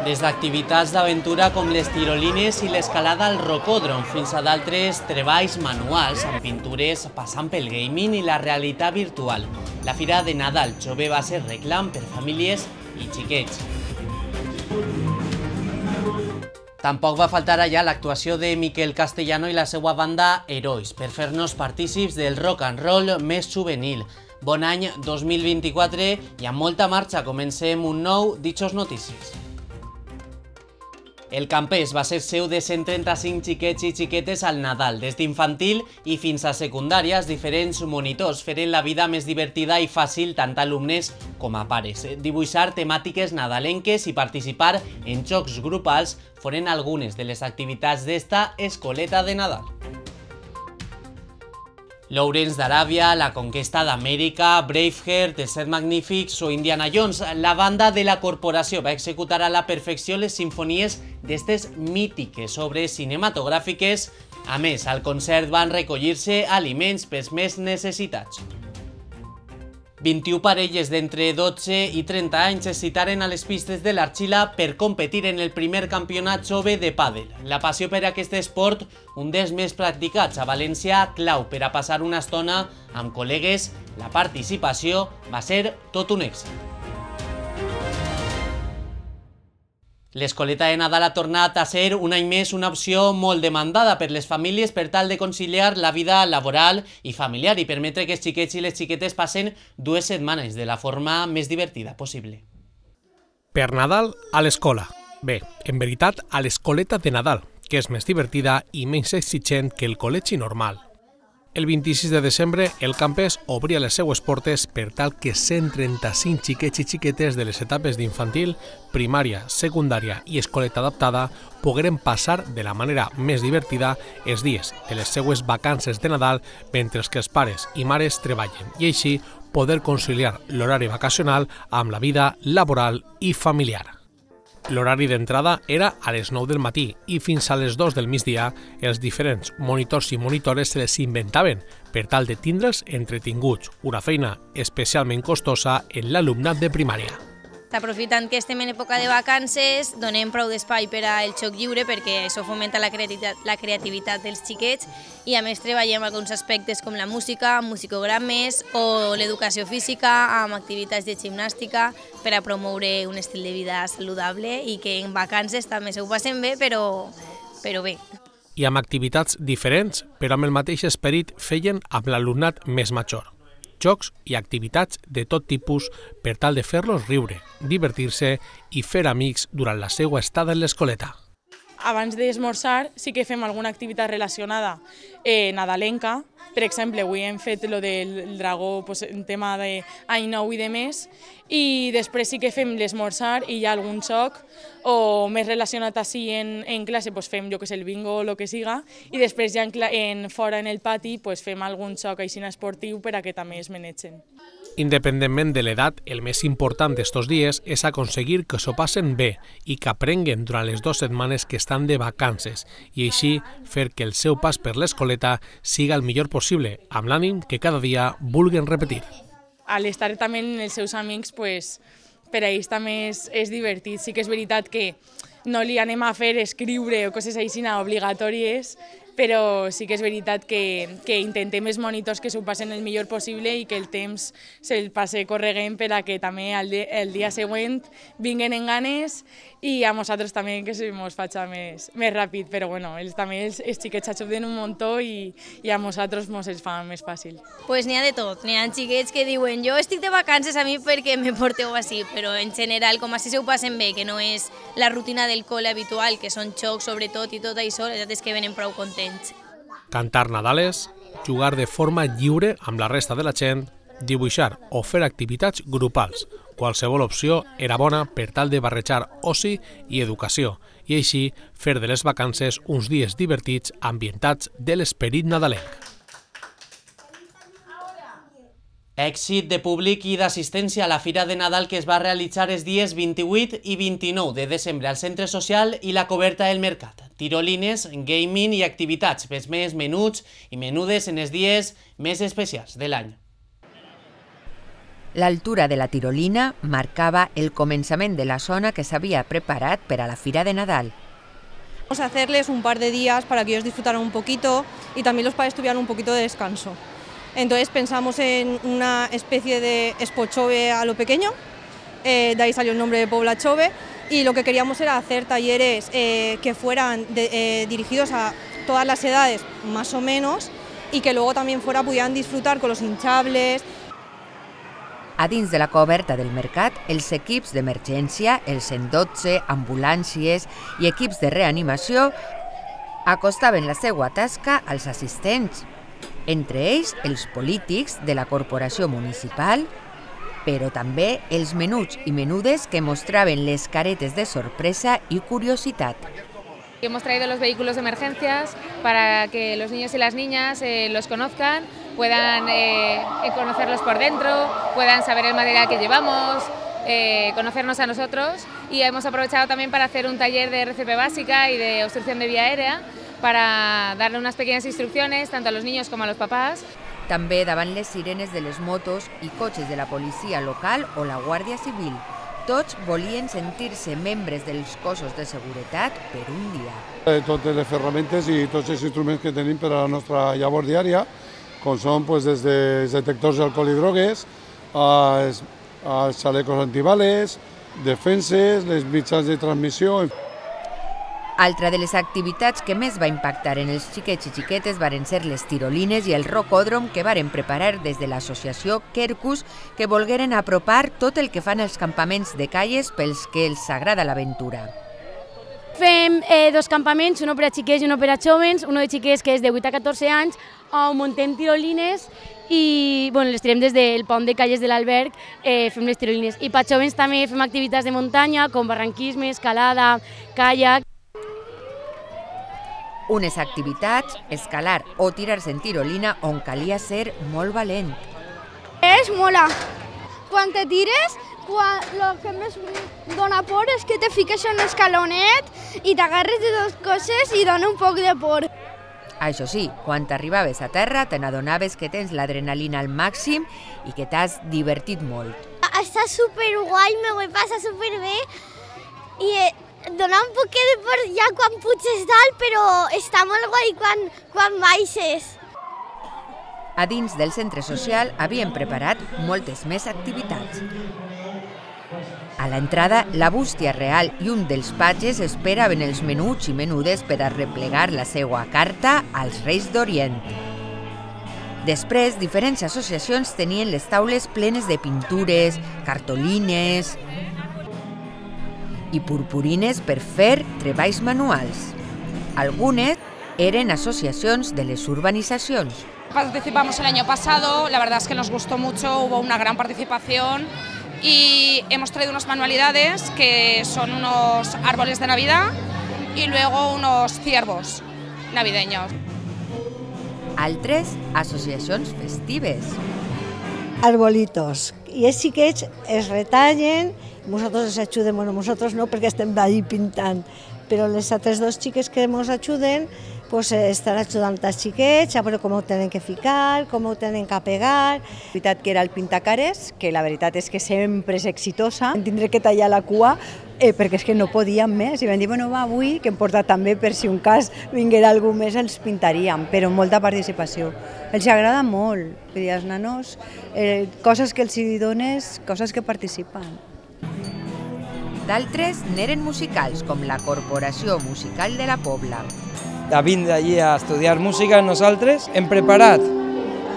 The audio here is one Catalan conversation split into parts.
Des d'activitats d'aventura com les tirolines i l'escalada al rocòdrom fins a d'altres treballs manuals amb pintures passant pel gaming i la realitat virtual. La Fira de Nadal Jove va ser reclam per famílies i xiquets. Tampoc va faltar allà l'actuació de Miquel Castellano i la seva banda Herois per fer-nos partícips del rock and roll més juvenil. Bon any 2024 i amb molta marxa comencem un nou Dichos Notícies. El campés va ser seu de 135 xiquets i xiquetes al Nadal, des d'infantil i fins a secundària. Els diferents monitors feren la vida més divertida i fàcil tant a alumnes com a pares. Dibuixar temàtiques nadalenques i participar en jocs grupals foren algunes de les activitats d'esta escoleta de Nadal. Lawrence d'Aràbia, La conquesta d'Amèrica, Braveheart, Els Set Magnífics o Indiana Jones. La banda de la corporació va executar a la perfecció les simfonies d'estes mítiques obres cinematogràfiques. A més, al concert van recollir-se aliments pels més necessitats. 21 parelles d'entre 12 i 30 anys es citaren a les pistes de l'Arxila per competir en el primer campionat jove de pàdel. La passió per aquest esport, un dels més practicats a València, clau per a passar una estona amb col·legues, la participació va ser tot un èxit. L'escoleta de Nadal ha tornat a ser un any més una opció molt demandada per les famílies per tal de conciliar la vida laboral i familiar i permetre que els xiquets i les xiquetes passen 2 setmanes de la forma més divertida possible. Per Nadal a l'escola. Bé, en veritat a l'escoleta de Nadal, que és més divertida i menys exigent que el col·legi normal. El 26 de desembre, el campus obria les seues portes per tal que 135 xiquets i xiquetes de les etapes d'infantil, primària, secundària i escoleta adaptada pogueren passar de la manera més divertida els dies de les seues vacances de Nadal mentre que els pares i mares treballen i així poder conciliar l'horari vacacional amb la vida laboral i familiar. L'horari d'entrada era a les 9 del matí i fins a les 2 del migdia els diferents monitors i monitores se les inventaven per tal de tindre'ls entretinguts, una feina especialment costosa en l'alumnat de primària. Aprofitant que estem en època de vacances, donem prou d'espai per al joc lliure perquè això fomenta la creativitat dels xiquets i a més treballem alguns aspectes com la música, musicogrames o l'educació física amb activitats de gimnàstica per a promoure un estil de vida saludable i que en vacances també s'ho passen bé, però bé. I amb activitats diferents, però amb el mateix esperit feien amb l'alumnat més major. Jocs i activitats de tot tipus per tal de fer-los riure, divertir-se i fer amics durant la seva estada en l'escoleta. Abans d'esmorzar sí que fem alguna activitat relacionada nadalenca. Per exemple, avui hem fet lo del dragó, en tema d'any nou i de més, i després sí que fem l'esmorzar i hi ha algun joc o més relacionat així en classe, fem jo que sé, el bingo o el que siga, i després ja fora en el pati fem algun joc així esportiu per a que també es menegen. Independentment de l'edat, el més important d'estos dies és aconseguir que s'ho passen bé i que aprenguen durant les 2 setmanes que estan de vacances i així fer que el seu pas per l'escoleta siga el millor possible, amb l'ànim que cada dia vulguen repetir. Al estar també amb els seus amics, per a ells també és divertit. Sí que és veritat que no li anem a fer escriure o coses així obligatòries, però sí que és veritat que intentem els monitors que s'ho passen el millor possible i que el temps se'l passe corregent per a que també el dia següent vinguen en ganes i a nosaltres també que se mos faci més ràpid, però bueno, també els xiquets s'ajuden un muntó i a nosaltres mos els fa més fàcil. Pues n'hi ha de tot, n'hi ha xiquets que diuen jo estic de vacances a mi perquè me porteu així, però en general com així s'ho passen bé, que no és la rutina del col·le habitual, que són xocs sobretot i tot això, la veritat és que venen prou contents. Cantar nadales, jugar de forma lliure amb la resta de la gent, dibuixar o fer activitats grupals. Qualsevol opció era bona per tal de barrejar oci i educació i així fer de les vacances uns dies divertits ambientats de l'esperit nadalenc. Èxit de públic i d'assistència a la Fira de Nadal que es va realitzar els dies 28 i 29 de desembre al Centre Social i la coberta del Mercat. Tirolines, gaming i activitats pels més menuts i menudes en els dies més especials de l'any. L'altura de la tirolina marcava el començament de la zona que s'havia preparat per a la Fira de Nadal. Vamos a hacerles un par de días para que ellos disfrutaran un poquito y también los padres tuvieran un poquito de descanso. Entonces pensamos en una especie de Expo Chove a lo pequeño, de ahí salió el nombre de Pobla Chove, y lo que queríamos era hacer talleres que fueran dirigidos a todas las edades más o menos y que luego también pudieran disfrutar con los hinchables. A dins de la coberta del mercat, els equips d'emergència, els 112, ambulàncies i equips de reanimació acostaven la seva tasca als assistents, entre ells els polítics de la corporació municipal, però també els menuts i menudes que mostraven les caretes de sorpresa i curiositat. Hemos traído los vehículos de emergencias para que los niños y las niñas los conozcan, puedan conocerlos por dentro, puedan saber el material que llevamos, conocernos a nosotros, y hemos aprovechado también para hacer un taller de RCP básica y de obstrucción de vía aérea para darle unas pequeñas instrucciones tanto a los niños como a los papás. També davant les sirenes de les motos i cotxes de la policia local o la Guàrdia Civil. Tots volien sentir-se membres dels cossos de seguretat per un dia. Totes les ferramentes i tots els instruments que tenim per a la nostra llavor diària, com són des dels detectors d'alcohol i drogues, als xalecos antibales, defenses, les mitjans de transmissió. Altra de les activitats que més va impactar en els xiquets i xiquetes varen ser les tirolines i el rocòdrom que varen preparar des de l'associació Quercus, que volgueren apropar tot el que fan els campaments de calles pels que els agrada l'aventura. Fem dos campaments, un per a xiquets i un per a jóvens, un de xiquets que és de 8 a 14 anys, on muntem tirolines i les tirem des del pont de calles de l'alberg, fem les tirolines. I per a jóvens també fem activitats de muntanya com barranquisme, escalada, caiac. Unes activitats, escalar o tirar-se en tirolina on calia ser molt valent. És mola. Quan te tires, el que més dona por és que te fiques en un escalonet i t'agarres de dues coses i dona un poc de por. Això sí, quan t'arribaves a terra te n'adonaves que tens l'adrenalina al màxim i que t'has divertit molt. Està superguai, me ho he passat superbé i dona un poc de por ja quan puges dalt, però està molt guai quan baixes. A dins del centre social havien preparat moltes més activitats. A l'entrada, la bústia real i un dels patges esperaven els menuts i menudes per a replegar la seva carta als Reis d'Orient. Després, diferents associacions tenien les taules plenes de pintures, cartolines i purpurines per fer treballs manuals. Algunes eren asociacions de les urbanizacions. Participamos el año pasado, la verdad es que nos gustó mucho, hubo una gran participación y hemos traído unas manualidades que son unos árboles de Navidad y luego unos ciervos navideños. Altres, associacions festives. Arbolitos. I els xiquets es retallen, nosaltres els ajudem, bueno, nosaltres no perquè estem allí pintant, però les altres dos xiques que ens ajuden estan ajudant els xiquets a veure com ho tenen que ficar, com ho tenen que pegar. La veritat que era el pintacares, que la veritat és que sempre és exitosa. Vam tindre que tallar la cua perquè és que no podíem més i vam dir, bueno, va, avui, que hem portat també per si un cas vinguera algú més, els pintaríem, però amb molta participació. Els agrada molt, vull dir, als nanos, coses que els dones, coses que participen. D'altres n'eren musicals, com la Corporació Musical de la Pobla. De vindre allí a estudiar música, nosaltres hem preparat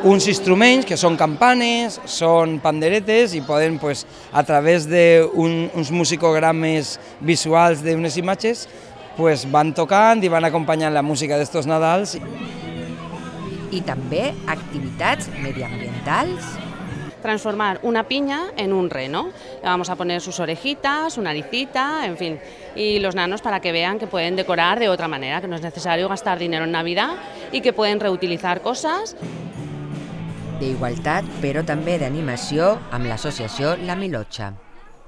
uns instruments que són campanes, són panderetes i poden, a través d'uns musicogrames visuals d'unes imatges, van tocant i van acompanyant la música d'estos Nadals. I també activitats mediambientals. Transformar una piña en un reno. Le vamos a poner sus orejitas, su naricita, en fin, y los nanos para que vean que pueden decorar de otra manera, que no es necesario gastar dinero en Navidad y que pueden reutilizar cosas. D'igualtat, però també d'animació amb l'associació La Milotxa.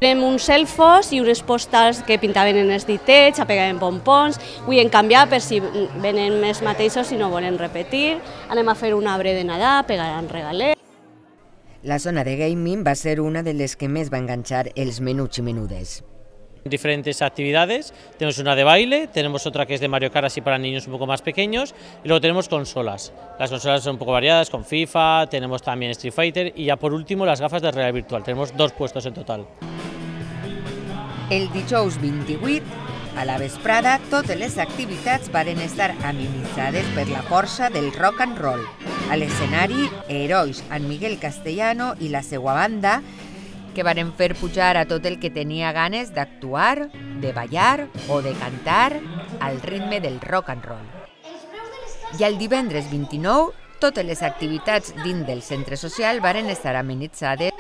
Tenim uns elfos i unes postals que pintaven en els ditets, apegaven pompons, avui hem canviat per si venen més mateixos i no volen repetir. Anem a fer un arbre de Nadal, pegaran regalets. La zona de gaming va ser una de les que més va enganxar els menuts i menudes. Diferentes actividades, tenemos una de baile, tenemos otra que es de Mario Kart así para niños un poco más pequeños y luego tenemos consolas. Las consolas son un poco variadas con FIFA, tenemos también Street Fighter y ya por último las gafas de realidad virtual, tenemos 2 puestos en total. El dijous 28, a la vesprada, totes les activitats varen estar amenitzades per la força del rock and roll. A l'escenari, herois en Miguel Castellano i la seva banda, que varen fer pujar a tot el que tenia ganes d'actuar, de ballar o de cantar al ritme del rock and roll. I el divendres 29, totes les activitats dins del centre social varen estar amenitzades.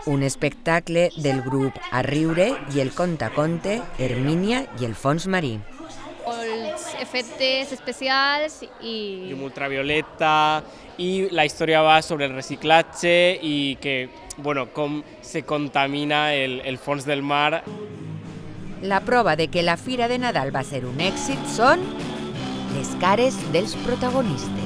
Un espectacle del grup A Riure i el contaconte Hermínia i el fons marí. Els efectes especials i... Llum ultravioleta y la historia va sobre el reciclaje y que, bueno, cómo se contamina el fons del mar. La prova de que la Fira de Nadal va ser un èxit són les cares dels protagonistes.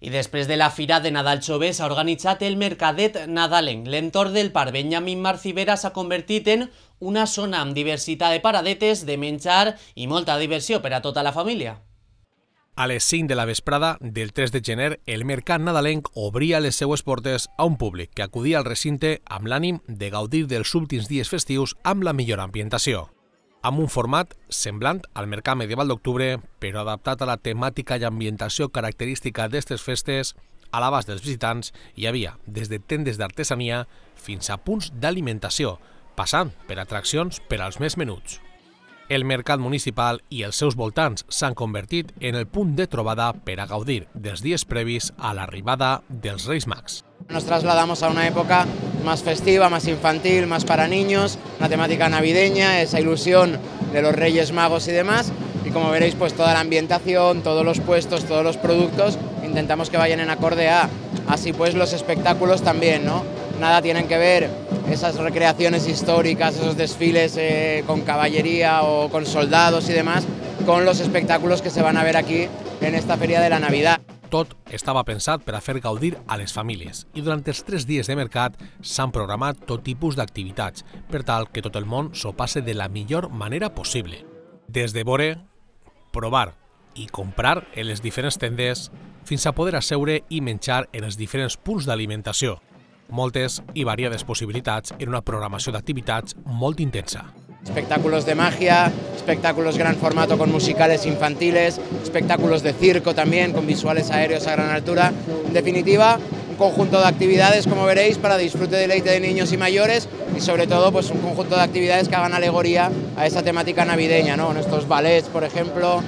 I després de la Fira de Nadal Jove s'ha organitzat el Mercadet Nadalenc. L'entorn del Parc Benjamín Marcivera s'ha convertit en una zona amb diversitat de paradetes, de menjar i molta diversió per a tota la família. A les 5 de la vesprada del 3 de gener, el Mercat Nadalenc obria les seues portes a un públic que acudia al recinte amb l'ànim de gaudir dels últims dies festius amb la millor ambientació. Amb un format semblant al Mercat Medieval d'Octubre, però adaptat a la temàtica i ambientació característica d'aquestes festes, a l'abast dels visitants hi havia des de tendes d'artesania fins a punts d'alimentació, passant per atraccions per als més menuts. El mercat municipal i els seus voltants s'han convertit en el punt de trobada per a gaudir dels dies previs a l'arribada dels Reis Mags. Nos trasladamos a una época más festiva, más infantil, más para niños, una temática navideña, esa ilusión de los Reyes Magos y demás. Y como veréis, pues toda la ambientación, todos los puestos, todos los productos, intentamos que vayan en acorde a. Así pues los espectáculos también, ¿no? Nada tienen que ver esas recreaciones históricas, esos desfiles con caballería o con soldados y demás, con los espectáculos que se van a ver aquí en esta Feria de la Navidad. Tot estava pensat per a fer gaudir a les famílies i durant els 3 dies de mercat s'han programat tot tipus d'activitats per tal que tot el món s'ho passe de la millor manera possible. Des de veure, provar i comprar en les diferents tendes fins a poder asseure i menjar en els diferents punts d'alimentació. Moltes i variades possibilitats en una programació d'activitats molt intensa. Espectáculos de magia, espectáculos gran formato con musicales infantiles, espectáculos de circo también con visuales aéreos a gran altura. En definitiva, un conjunto de actividades, como veréis, para disfrute y deleite de niños y mayores y sobre todo pues un conjunto de actividades que hagan alegoría a esa temática navideña, ¿no? Estos ballets, por ejemplo,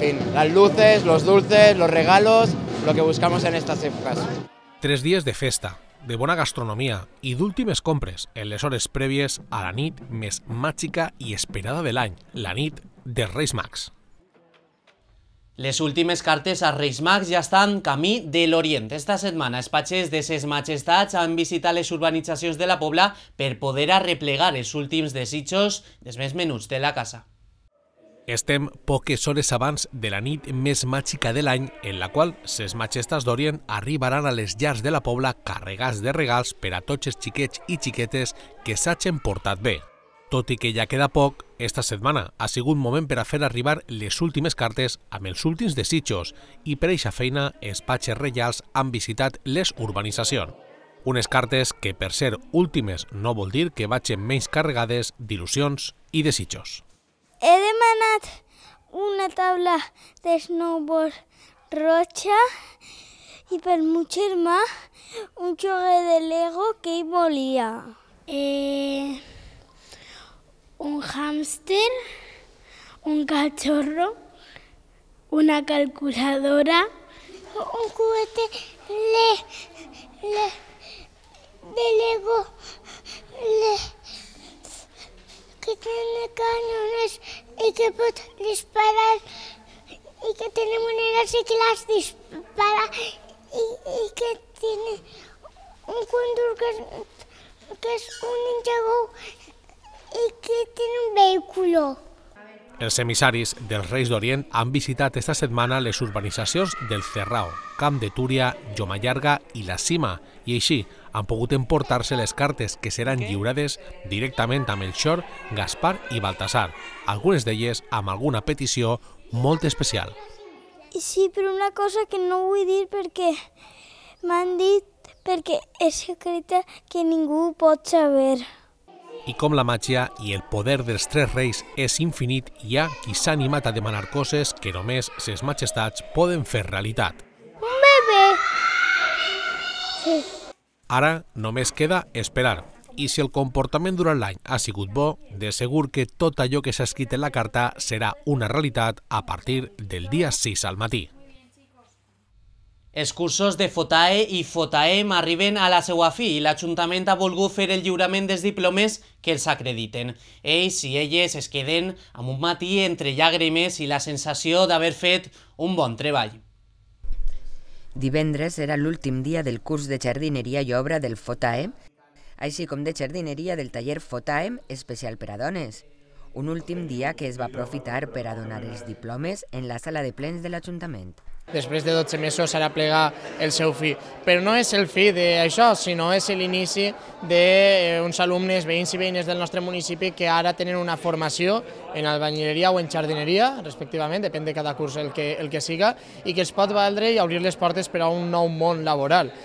en fin, las luces, los dulces, los regalos, lo que buscamos en estas épocas. 3 dies de festa, de bona gastronomia i d'últimes compres en les hores prèvies a la nit més màgica i esperada de l'any, la nit dels Reis Mags. Les últimes cartes a Reis Mags ja estan camí de l'Orient. Esta setmana els patges de ses majestats han visitat les urbanitzacions de la Pobla per poder arreplegar els últims desitjos dels més menuts de la casa. Estem poques hores abans de la nit més màgica de l'any, en la qual ses majestats d'Orient arribaran a les llars de la Pobla carregats de regals per a tots els xiquets i xiquetes que s'hagin portat bé. Tot i que ja queda poc, esta setmana ha sigut moment per a fer arribar les últimes cartes amb els últims desitjos i per eixa feina els patges reials han visitat les urbanitzacions. Unes cartes que per ser últimes no vol dir que vagin menys carregades d'il·lusions i desitjos. He demanat una taula de snowboard roja i per meu germà un joguet de Lego que ell volia. Un hámster, un cachorro, una calculadora, un juguete de Lego que tiene cañones y que puede disparar y que tiene monedas y que las dispara y que tiene un conductor que es un ninjago y que tiene un vehículo. Els emissaris dels Reis d'Orient han visitat esta setmana les urbanitzacions del Cerrao, Camp de Túria, Llomallarga i La Cima, i així han pogut emportar-se les cartes que seran lliurades directament a Melchor, Gaspar i Baltasar, algunes d'elles amb alguna petició molt especial. Sí, però una cosa que no vull dir perquè m'han dit perquè és secreta que ningú pot saber. I com la màgia i el poder dels tres reis és infinit, hi ha qui s'ha animat a demanar coses que només ses majestats poden fer realitat. Un bebè! Sí. Ara només queda esperar. I si el comportament durant l'any ha sigut bo, de segur que tot allò que s'ha escrit en la carta serà una realitat a partir del dia 6 al matí. Els cursos de FOTAE i FOTAEM arriben a la seva fi i l'Ajuntament ha volgut fer el lliurament dels diplomes que els acrediten. Ells i elles es queden amb un matí entre llàgrimes i la sensació d'haver fet un bon treball. Divendres era l'últim dia del curs de jardineria i obra del FOTAEM, així com de jardineria del taller FOTAEM especial per a dones. Un últim dia que es va aprofitar per a donar els diplomes en la sala de plens de l'Ajuntament. Després de 12 mesos ara plega el seu fi. Però no és el fi d'això, sinó és l'inici d'uns alumnes, veïns i veïnes del nostre municipi que ara tenen una formació en albañileria o en jardineria, respectivament, depèn de cada curs el que siga, i que els pot valdre i obrir les portes per a un nou món laboral.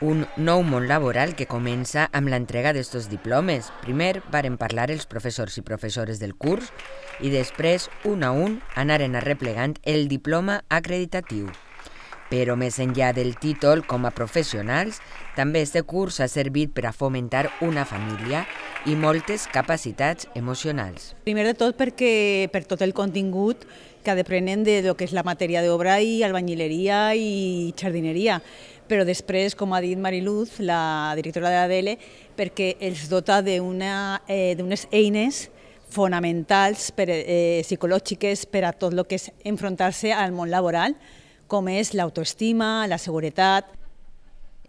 Un nou món laboral que comença amb l'entrega d'estos diplomes. Primer varen parlar els professors i professores del curs i després, un a un, anaren arreplegant el diploma acreditatiu. Però més enllà del títol com a professionals, també este curs ha servit per a fomentar una família i moltes capacitats emocionals. Primer de tot perquè per tot el contingut que aprenen de lo que és la matèria d'obra i albañileria i jardineria. Però després, com ha dit Mariluz, la directora de l'ADL, perquè els dota d'unes eines fonamentals psicològiques per a tot el que és enfrontar-se al món laboral, com és l'autoestima, la seguretat.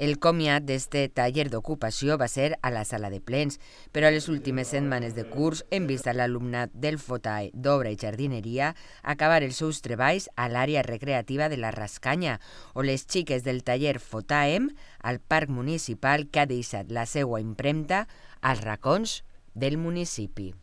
El comiat d'este taller d'ocupació va ser a la sala de plens, però a les últimes setmanes de curs hem vist a l'alumnat del FOTAE d'obra i jardineria acabar els seus treballs a l'àrea recreativa de la Rascanya o les xiques del taller FOTAEM al parc municipal que ha deixat la seva impremta als racons del municipi.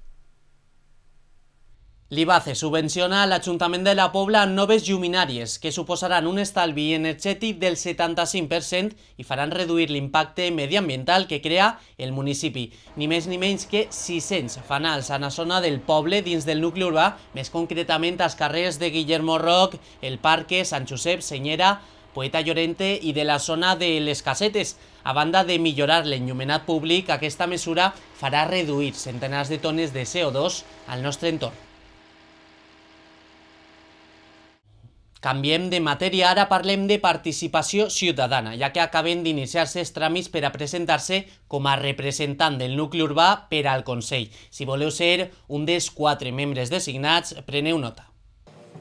L'IBACE subvenciona a l'Ajuntament de la Pobla noves lluminàries que suposaran un estalvi energètic del 75% i faran reduir l'impacte mediambiental que crea el municipi. Ni més ni menys que 600 fanals a la zona del poble dins del nucli urbà, més concretament als carrers de Guillermo Roc, el Parque, Sant Josep, Senyera, Poeta Llorente i de la zona de les Casetes. A banda de millorar l'enllumenat públic, aquesta mesura farà reduir centenars de tones de CO2 al nostre entorn. Canviem de matèria, ara parlem de participació ciutadana, ja que acaben d'iniciar-se els tràmits per a presentar-se com a representant del nucli urbà per al Consell. Si voleu ser un dels 4 membres designats, preneu nota.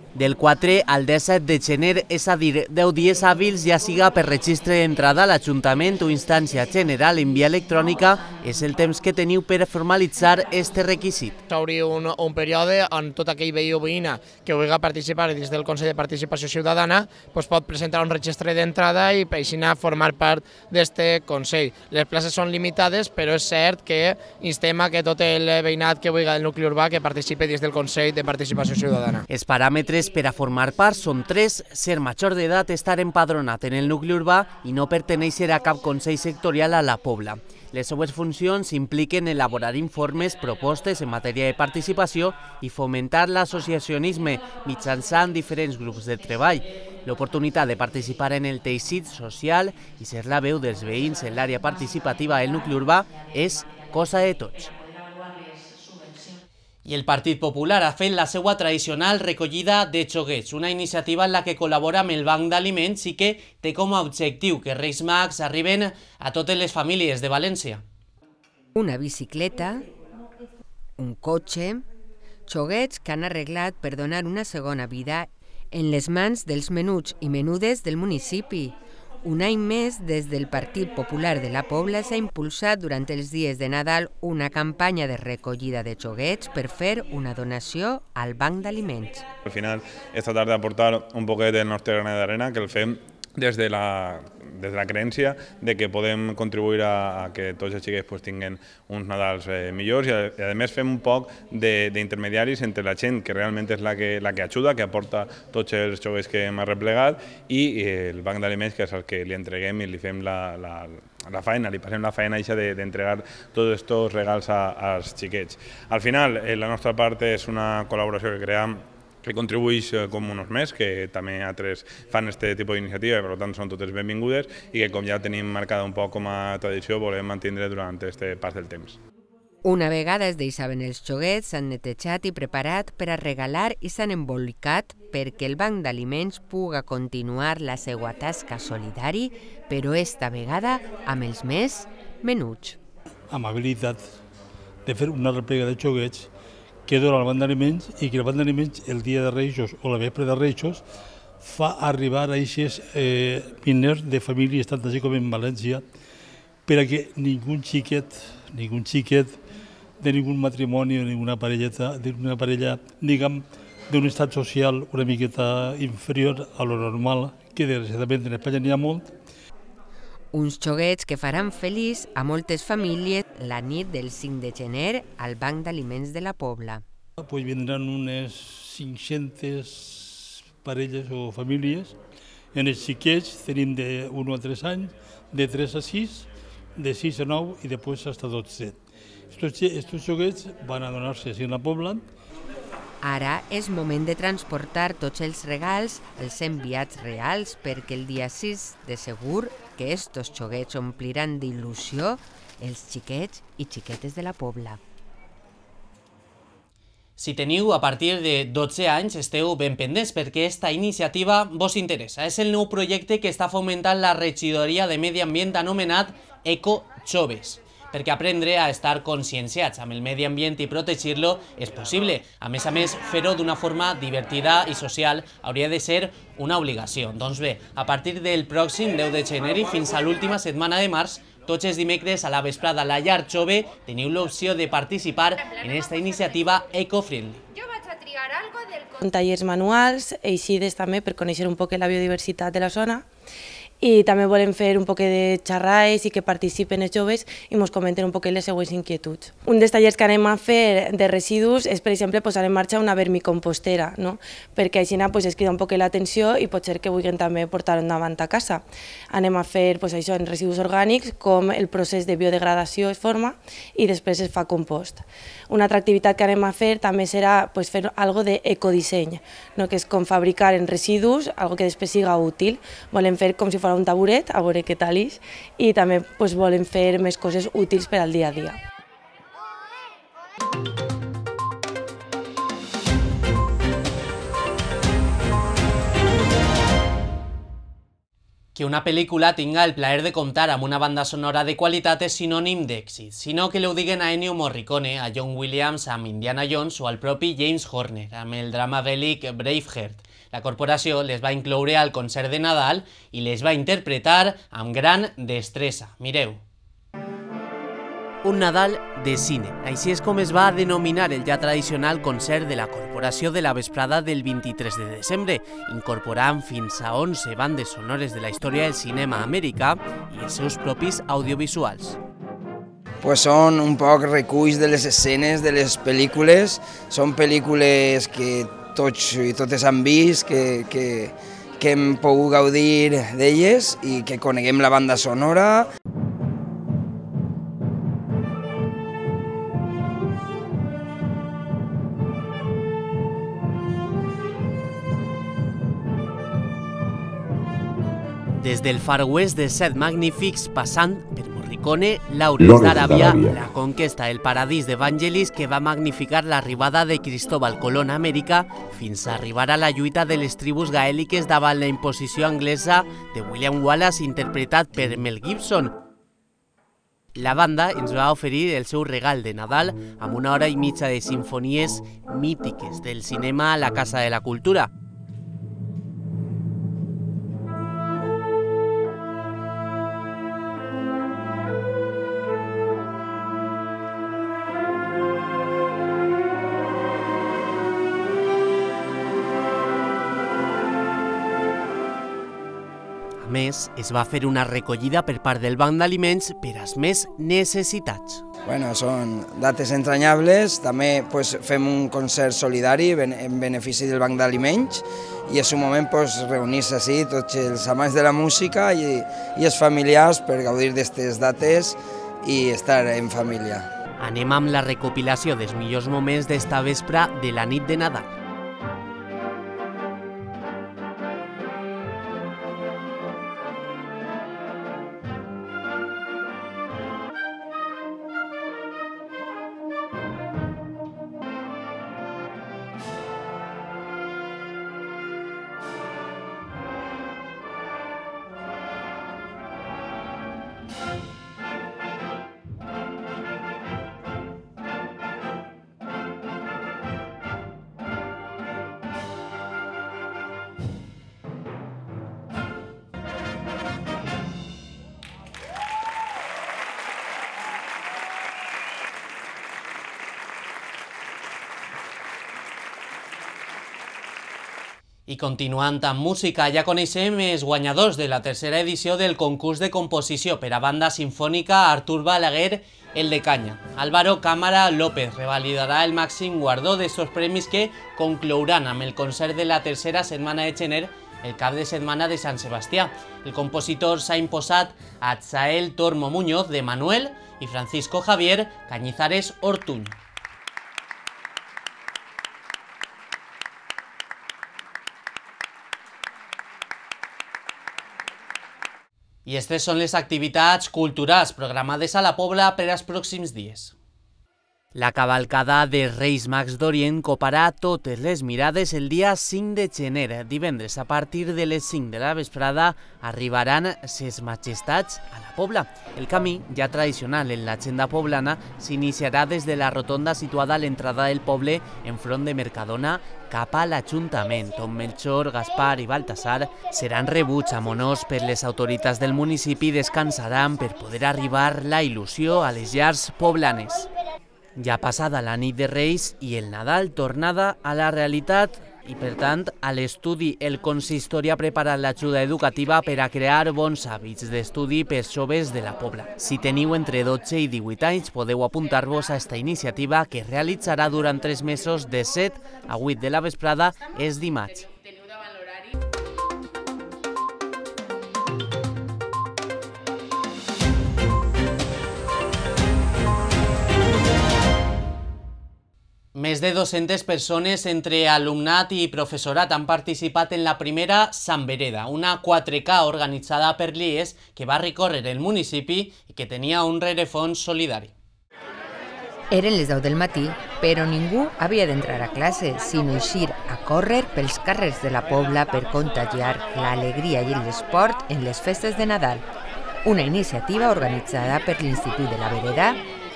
Del 4 al 17 de gener, és a dir, 10 dies hàbils, ja siga per registre d'entrada a l'Ajuntament o instància general en via electrònica, és el temps que teniu per formalitzar este requisit. S'obri un període on tot aquell veí o veïna que vulgui participar dins del Consell de Participació Ciutadana pot presentar un registre d'entrada i així formar part d'aquest Consell. Les places són limitades, però és cert que instem a que tot el veïnat que vulgui del nucli urbà que participi dins del Consell de Participació Ciutadana. Els paràmetres per a formar part són 3: ser major d'edat, estar empadronat en el nucli urbà i no pertenèixer a cap consell sectorial a la Pobla. Les seues funcions impliquen elaborar informes, propostes en matèria de participació i fomentar l'associacionisme mitjançant diferents grups de treball. L'oportunitat de participar en el teixit social i ser la veu dels veïns en l'àrea participativa del nucli urbà és cosa de tots. I el Partit Popular ha fet la seva tradicional recollida de xoguets, una iniciativa en la que col·labora amb el Banc d'Aliments i que té com a objectiu que Reis Mags arriben a totes les famílies de València. Una bicicleta, un cotxe, xoguets que han arreglat per donar una segona vida en les mans dels menuts i menudes del municipi. Un any més, des del Partit Popular de la Pobla s'ha impulsat durant els dies de Nadal una campanya de recollida de xoguets per fer una donació al Banc d'Aliments. Al final es tratar de aportar un poquet del nostre granet d'arena, que el fem des de la creencia de que podem contribuir a que tots els xiquets tinguin uns Nadals millors i a més fem un poc d'intermediaris entre la gent que realment és la que ajuda, que aporta tots els xoguets que hem arreplegat i el Banc d'Aliments, que és el que li entreguem i li fem la feina, li passem la feina d'entregar tots aquests regals als xiquets. Al final, la nostra part és una col·laboració que creem que contribueix com uns més, que també altres fan aquest tipus d'iniciativa i per tant són totes benvingudes i que com ja tenim marcada un poc com a tradició volem mantenir durant aquest pas del temps. Una vegada es deixaven els xoguets, s'han netejat i preparat per a regalar i s'han embolicat perquè el Banc d'Aliments puga continuar la seva tasca solidari, però esta vegada amb els més menuts. Amabilitat de fer una replega de xoguets que dona al Banc d'Aliments i que el Banc d'Aliments el dia de Reixos o la vespre de Reixos fa arribar a aquests diners de famílies tant així com en València per a que ningú xiquet de ningú matrimoni o d'una parella diguem d'un estat social una miqueta inferior a lo normal, que desgraciadament en Espanya n'hi ha molt. Uns xoguets que faran feliç a moltes famílies la nit del 5 de gener al Banc d'Aliments de la Pobla. Pues vindran unes 500 parelles o famílies. En els xiquets tenim de 1 a 3 anys, de 3 a 6, de 6 a 9 i després fins a 12. Estos xoguets van a donar-se així en la Pobla. Ara és moment de transportar tots els regals, els enviats reals, perquè el dia 6 de segur que estos xoguets ompliran d'il·lusió els xiquets i xiquetes de la Pobla. Si teniu a partir de 12 anys, esteu ben pendents perquè esta iniciativa vos interessa. És el nou projecte que està fomentant la regidoria de Medi Ambient anomenat Eco Joves, perquè aprendre a estar conscienciats amb el medi ambient i protegir-lo és possible. A més, fer-ho d'una forma divertida i social hauria de ser una obligació. Doncs bé, a partir del pròxim 10 de gener i fins a l'última setmana de març, tots els dimecres a la vesprada a la Llar Jove teniu l'opció de participar en aquesta iniciativa eco-friendly. Tallers manuals, eixides també per conèixer un poc la biodiversitat de la zona, i també volem fer un poc de xerrades i que participen els joves i ens comenten un poc les seues inquietuds. Un dels tallers que anem a fer de residus és, per exemple, posar en marxa una vermicompostera, perquè així es crida un poc l'atenció i pot ser que vulguin també portar-ho endavant a casa. Anem a fer això en residus orgànics, com el procés de biodegradació es forma i després es fa compost. Una altra activitat que anem a fer també serà fer alguna cosa d'ecodisseny, que és com fabricar en residus alguna que després siga útil. Volem fer com si fos un taburet, a veure què tal és, i també volem fer més coses útils per al dia a dia. Que una pel·lícula tinga el plaer de comptar amb una banda sonora de qualitat és sinònim d'èxit, sinó que ho diguen a Ennio Morricone, a John Williams amb Indiana Jones o al propi James Horner amb el drama bèl·lic Braveheart. La corporació les va incloure al concert de Nadal i les va interpretar amb gran destresa. Mireu. Un Nadal de cine. Així és com es va denominar el ja tradicional concert de la corporació de la vesprada del 23 de desembre, incorporant fins a 11 bandes sonores de la història del cinema americà i els seus propis audiovisuals. Són un poc reculls de les escenes de les pel·lícules, són pel·lícules que tots i totes han vist, que hem pogut gaudir d'elles i que coneguem la banda sonora. Des del Far West de Set Magnifics, passant per Morricone, Lawrence d'Aràbia, la conquesta del paradís d'Evangelis que va magnificar l'arribada de Cristóbal Colón a Amèrica fins a arribar a la lluita de les tribus gaèliques davant la imposició anglesa de William Wallace interpretat per Mel Gibson. La banda ens va oferir el seu regal de Nadal amb 1 hora i mitja de simfonies mítiques del cinema a la Casa de la Cultura. A més, es va fer una recollida per part del Banc d'Aliments per als més necessitats. Bueno, són dates entranyables, també fem un concert solidari en benefici del Banc d'Aliments i és un moment reunir-se així tots els amants de la música i els familiars per gaudir d'aquestes dates i estar en família. Anem amb la recopilació dels millors moments d'esta vespre de la nit de Nadal. I continuant amb música, ja coneixem els guanyadors de la tercera edició del concurs de composició per a banda sinfònica Artur Balaguer, el de Canya. Álvaro Cámara López revalidarà el màxim guardó d'estos premis que conclouran amb el concert de la tercera setmana de gener el cap de setmana de Sant Sebastià. El compositor s'ha imposat a Atzael Tormo Muñoz de Manuel i Francisco Javier Cañizares Ortuñ. I aquestes són les activitats culturals programades a la Pobla per als pròxims dies. La cavalcada de Reis Mags d'Orient coparà totes les mirades el dia 5 de gener. Divendres, a partir de les 5 de la vesprada, arribaran ses majestats a la Pobla. El camí, ja tradicional en l'agenda poblana, s'iniciarà des de la rotonda situada a l'entrada del poble enfront de Mercadona cap a l'Ajuntament, on Melchor, Gaspar i Baltasar seran rebuts amb honors per les autoritats del municipi i descansaran per poder arribar la il·lusió a les llars poblanes. Ja passada la nit de Reis i el Nadal, tornada a la realitat i, per tant, a l'estudi. El consistori ha preparat l'ajuda educativa per a crear bons hàbits d'estudi per joves de la Pobla. Si teniu entre 12 i 18 anys, podeu apuntar-vos a esta iniciativa que es realitzarà durant 3 mesos de 7 a 8 de la vesprada els dimarts. Més de 200 persones entre alumnat i professorat han participat en la primera Sant Vereda, una 4K organitzada per l'IES que va recórrer el municipi i que tenia un rerefons solidari. Eren les 10 del matí, però ningú havia d'entrar a classe, sinó eixir a córrer pels carrers de la Pobla per contagiar l'alegria i l'esport en les festes de Nadal. Una iniciativa organitzada per l'Institut de la Vereda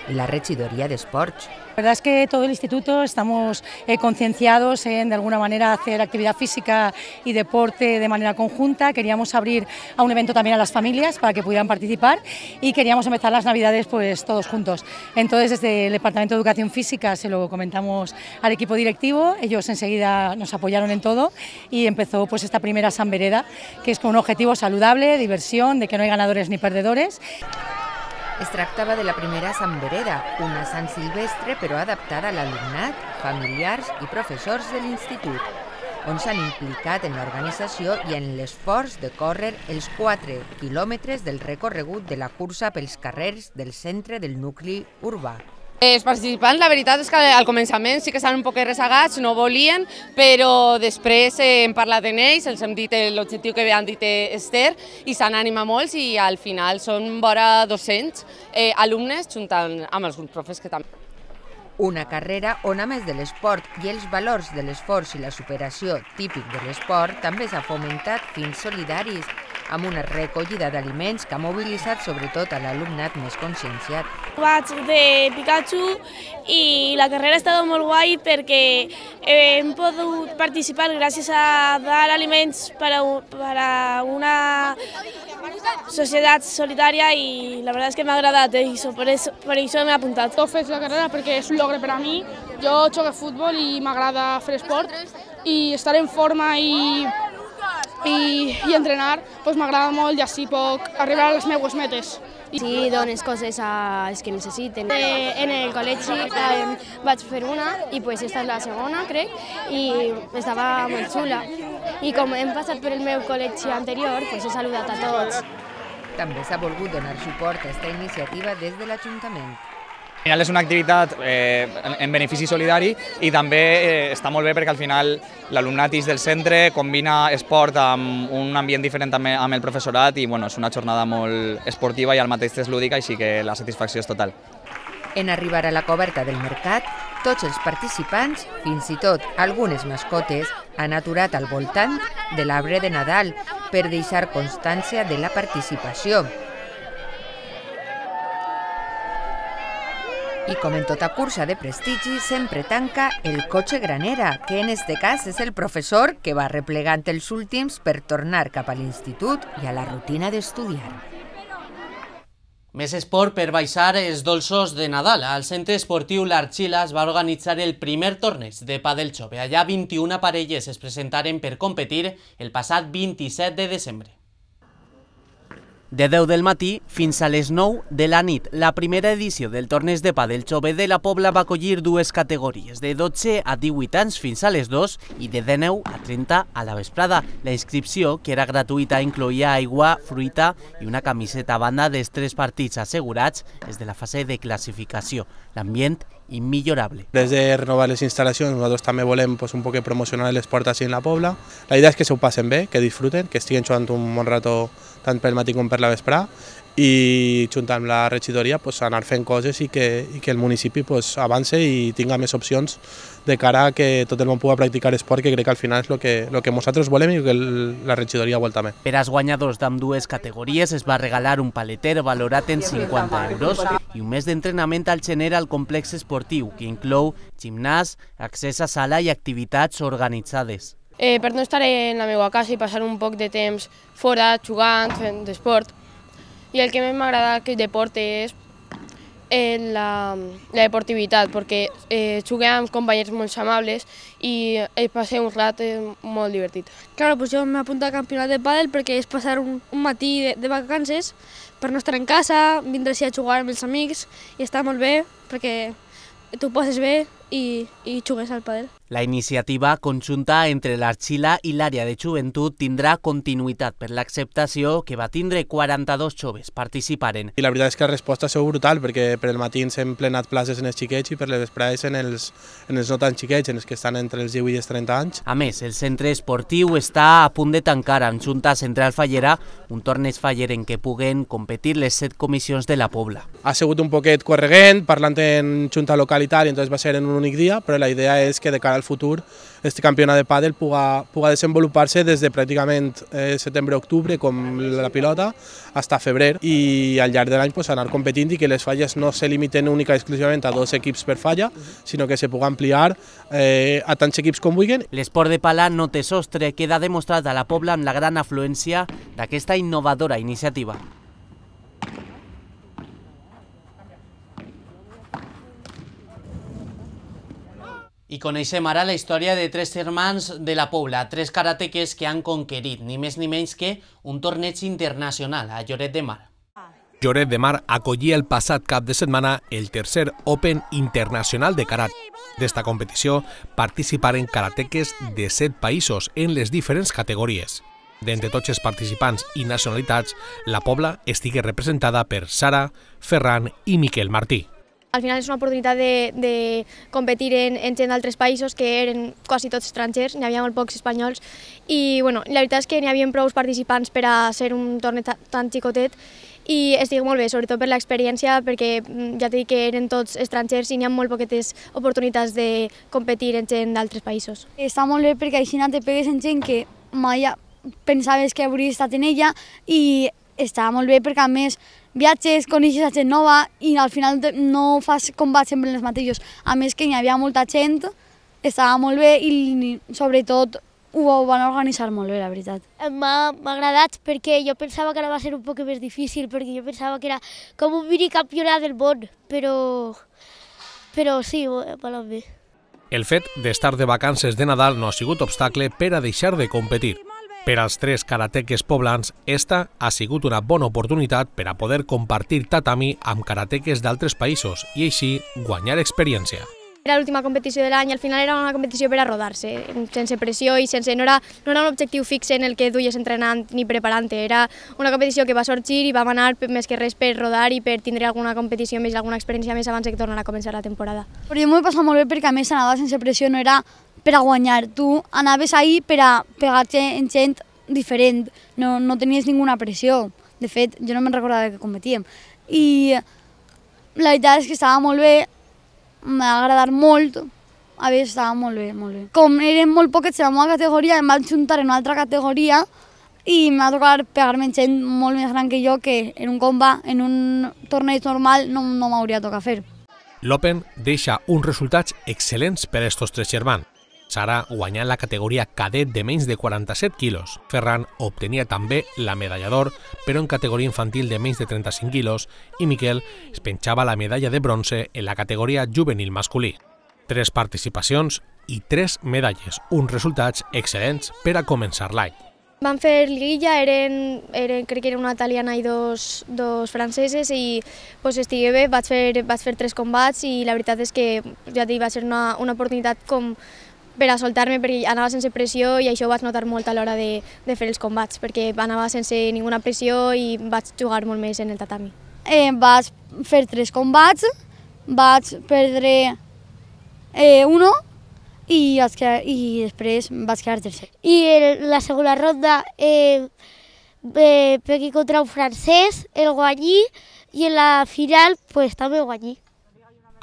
y la Regidoría de Sports. La verdad es que todo el instituto estamos concienciados en de alguna manera hacer actividad física y deporte de manera conjunta. Queríamos abrir a un evento también a las familias para que pudieran participar y queríamos empezar las Navidades pues todos juntos. Entonces desde el Departamento de Educación Física se lo comentamos al equipo directivo, ellos enseguida nos apoyaron en todo y empezó pues esta primera Sant Vereda, que es con un objetivo saludable, diversión, de que no hay ganadores ni perdedores. Es tractava de la primera Sant Vereda, una Sant Silvestre però adaptada a l'alumnat, familiars i professors de l'institut, on s'han implicat en l'organització i en l'esforç de córrer els 4 quilòmetres del recorregut de la cursa pels carrers del centre del nucli urbà. Els participants, la veritat és que al començament sí que estaven un poc rezagats, no volien, però després hem parlat amb ells, els hem dit l'objectiu que han dit Esther i s'han animat molts i al final són vora 200 alumnes juntant amb els profes que també. Una carrera on, a més de l'esport i els valors de l'esforç i la superació típic de l'esport, també s'ha fomentat fins solidaris, amb una recollida d'aliments que ha mobilitzat sobretot a l'alumnat més conscienciat. Vaig de Pikachu i la carrera ha estat molt guai perquè hem pogut participar gràcies a dar aliments per a una societat solidària i la veritat és que m'ha agradat i per això m'he apuntat. He fet la carrera perquè és un logre per a mi. Jo jugo a futbol i m'agrada fer esport i estar en forma i i entrenar m'agrada molt i així puc arribar a les meves metes. Sí, dones coses als que necessiten. En el col·legi vaig fer una i esta és la segona, crec, i estava molt xula. I com hem passat per el meu col·legi anterior, he saludat a tots. També s'ha volgut donar suport a aquesta iniciativa des de l'Ajuntament. Al final és una activitat en benefici solidari i també està molt bé perquè al final l'alumnat del centre combina esport amb un ambient diferent amb el professorat i és una jornada molt esportiva i al mateix temps lúdica, així que la satisfacció és total. En arribar a la coberta del mercat, tots els participants, fins i tot algunes mascotes, han aturat al voltant de l'arbre de Nadal per deixar constància de la participació. I com en tota cursa de prestigi, sempre tanca el cotxe granera, que en este cas és el professor que va replegant els últims per tornar cap a l'institut i a la rutina d'estudiar. Més esport per baixar els dolços de Nadal. Al centre esportiu l'Arxila es va organitzar el primer torneig de pàdel jove. Allà 21 parelles es presentaren per competir el passat 27 de desembre. De 10 del matí fins a les 9 de la nit, la primera edició del torneig de pàdel jove de la Pobla va acollir dues categories, de 12 a 18 anys fins a les 2 i de 19 a 30 a la vesprada. La inscripció, que era gratuïta, incloïa aigua, fruita i una camiseta a banda dels 3 partits assegurats des de la fase de classificació. L'ambient immillorable. Des de renovar les instal·lacions, nosaltres també volem un poc promocionar l'esport així en la Pobla. La idea és que s'ho passen bé, que disfruten, que estiguin jugant un bon rato tant pel matí com per la vesprà i junt amb la regidoria anar fent coses i que el municipi avance i tinga més opcions de cara a que tot el món pugui practicar esport, que crec que al final és el que nosaltres volem i que la regidoria vol també. Per als guanyadors d'ambdues categories es va regalar un paleter valorat en 50 euros i un mes d'entrenament al gener al complex esportiu, que inclou gimnàs, accés a sala i activitats organitzades. Per no estar en la meva casa i passar un poc de temps fora, jugant, fent d'esport. I el que més m'agrada que el deport és la deportivitat, perquè jugué amb companys molt amables i passé un rato molt divertit. Claro, pues yo me apunto al campionat de pàdel perquè és passar un matí de vacances per no estar en casa, vindre a jugar amb els amics i està molt bé perquè tu passes bé i jugues al pàdel. La iniciativa conjunta entre l'Arxila i l'àrea de joventut tindrà continuïtat per l'acceptació que va tindre 42 joves participaren. I la veritat és que la resposta ha sigut brutal, perquè per el matí ens hem plenat places en els xiquets i per les vesprades en els no tan xiquets, en els que estan entre els 18 i els 30 anys. A més, el centre esportiu està a punt de tancar amb Junta Central Fallera un torneig faller en què puguen competir les 7 comissions de la Pobla. Ha sigut un poquet correguent, parlant en Junta local i tal, i entonces va ser en un únic dia, però la idea és que de cara al futur este campionat de pàdel puga desenvolupar-se des de pràcticament setembre-octubre, com la pilota, fins a febrer, i al llarg de l'any anar competint i que les falles no se limiten única i exclusivament a 2 equips per falla, sinó que se pugui ampliar a tants equips com vulguin. L'esport de pala no té sostre, queda demostrat a la Pobla amb la gran afluència d'aquesta innovadora iniciativa. I coneixem ara la història de 3 germans de la Pobla, 3 karateques que han conquerit ni més ni menys que un torneig internacional a Lloret de Mar. Lloret de Mar acollia el passat cap de setmana el tercer Open Internacional de Karate. D'esta competició participaren karateques de 7 països en les diferents categories. D'entre tots els participants i nacionalitats, la Pobla estigui representada per Sara, Ferran i Miquel Martí. Al final és una oportunitat de competir en gent d'altres països que eren quasi tots estrangers, n'hi havia molt pocs espanyols i la veritat és que n'hi havia prou participants per a ser un torneig tan xicotet i estic molt bé, sobretot per l'experiència, perquè ja t'he dit que eren tots estrangers i n'hi ha molt poquetes oportunitats de competir en gent d'altres països. Està molt bé perquè així te pegues en gent que mai pensaves que hauries estat en ella i està molt bé perquè a més viatges, coneixes a gent nova i al final no fas combats sempre els mateixos. A més que hi havia molta gent, estava molt bé i sobretot ho van organitzar molt bé, la veritat. M'ha agradat perquè jo pensava que ara va ser un poc més difícil, perquè jo pensava que era com un minicampionat del món, però sí, m'ha anat bé. El fet d'estar de vacances de Nadal no ha sigut obstacle per a deixar de competir. Per als 3 karateques poblans, esta ha sigut una bona oportunitat per a poder compartir tatami amb karateques d'altres països i així guanyar experiència. Era l'última competició de l'any i al final era una competició per a rodar-se, sense pressió i no era un objectiu fix en el que duies entrenant ni preparant-te, era una competició que va sorgir i vam anar més que res per rodar i per tindre alguna competició més, alguna experiència més abans de tornar a començar la temporada. Però jo m'ho he passat molt bé perquè a més anava sense pressió, no era per a guanyar, tu anaves ahí per a pegar-te en gent diferent, no tenies ninguna pressió, de fet jo no me'n recordava que competíem i la veritat és que estava molt bé. M'ha agradat molt, a veure, estava molt bé, molt bé. Com eren molt poquets en la meva categoria, em vaig juntar en una altra categoria i m'ha tocat pegar-me gent molt més gran que jo, que en un combat, en un torneig normal, no m'hauria tocat fer. L'Open deixa uns resultats excel·lents per a estos 3 germans. Sara guanyant la categoria cadet de menys de 47 quilos. Ferran obtenia també la medalla d'or, però en categoria infantil de menys de 35 quilos, i Miquel es penjava la medalla de bronze en la categoria juvenil masculí. 3 participacions i 3 medalles, uns resultats excel·lents per a començar l'any. Vam fer liguilla, crec que era una italiana i dos franceses i estigué bé, vaig fer 3 combats i la veritat és que ja dic, va ser una oportunitat com per a soltar-me perquè anava sense pressió i això ho vaig notar molt a l'hora de fer els combats perquè anava sense ninguna pressió i vaig jugar molt més en el tatami. Vaig fer 3 combats, vaig perdre 1 i després vaig quedar tercer. I en la segona ronda pegui contra un francès, el guanyí, i en la final també guanyí.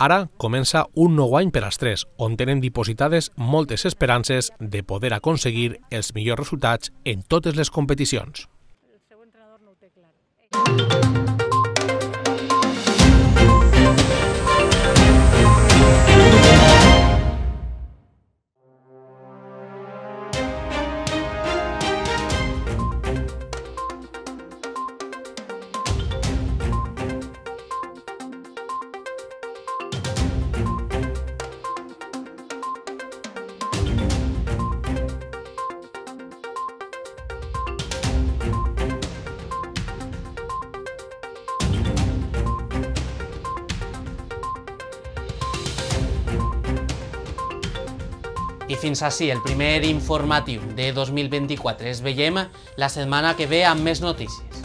Ara comença un nou any per als 3, on tenen dipositades moltes esperances de poder aconseguir els millors resultats en totes les competicions. I fins així el primer informatiu de 2024. Ens veiem la setmana que ve amb més notícies.